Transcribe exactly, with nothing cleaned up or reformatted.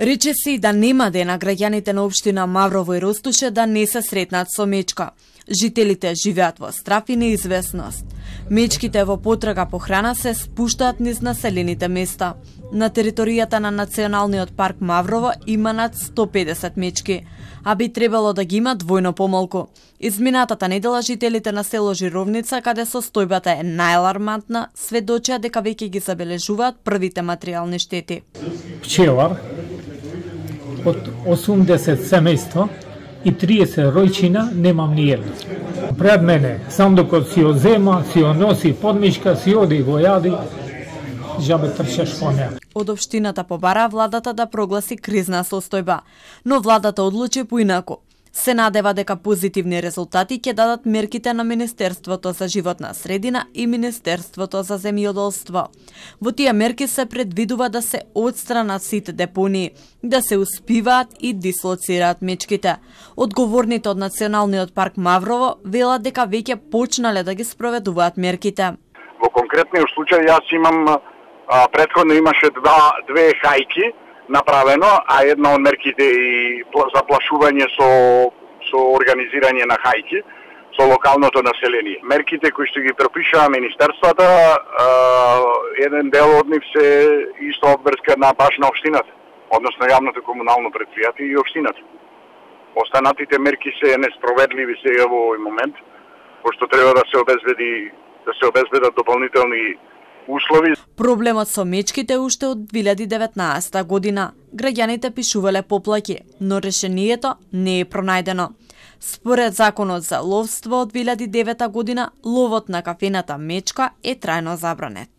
Рече се и да нема дена граѓаните на општина Маврово и Ростуше да не се сретнат со мечка. Жителите живеат во страф и неизвестност. Мечките во потрага по храна се спуштаат низ населените места. На територијата на Националниот парк Маврово има над сто педесет мечки, а би требало да ги има двојно помалку. Изминатата недела жителите на село Жировница, каде состојбата е најалармантна, сведочеа дека веќе ги забележуваат првите материјални штети. Пчелар од осумдесет семејства и триесет ројчина немам ни едно. Пред мене, сам докато си ја зема, си ја носи подмишка, си оди го јади, жабе трчеш по неа. Од општината побара владата да прогласи кризна состојба, но владата одлучи поинаку. Се надева дека позитивни резултати ќе дадат мерките на Министерството за животна средина и Министерството за земјоделство. Во тие мерки се предвидува да се отстранат сите депонии, да се успиваат и дислоцираат мечките. Одговорните од Националниот парк Маврово велат дека веќе почнале да ги спроведуваат мерките. Во конкретниот случај јас имам а, претходно имаше два две хајки направено, а една од мерките и заплашување со со организирање на хајки со локалното население. Мерките кои што ги пропишаа министерствата, а, еден дел од нив се исто обврска на баш на општината, односно јавното комунално претпријатие и општината. Останатите мерки се неспроведливи сега во овој момент, пошто треба да се обезбеди да се обезбедат дополнителни услови. Проблемот со мечките уште од две илјади и деветнаесета година. Граѓаните пишувале поплаки, но решението не е пронајдено. Според законот за ловство од две илјади и девета година, ловот на кафената мечка е трајно забранет.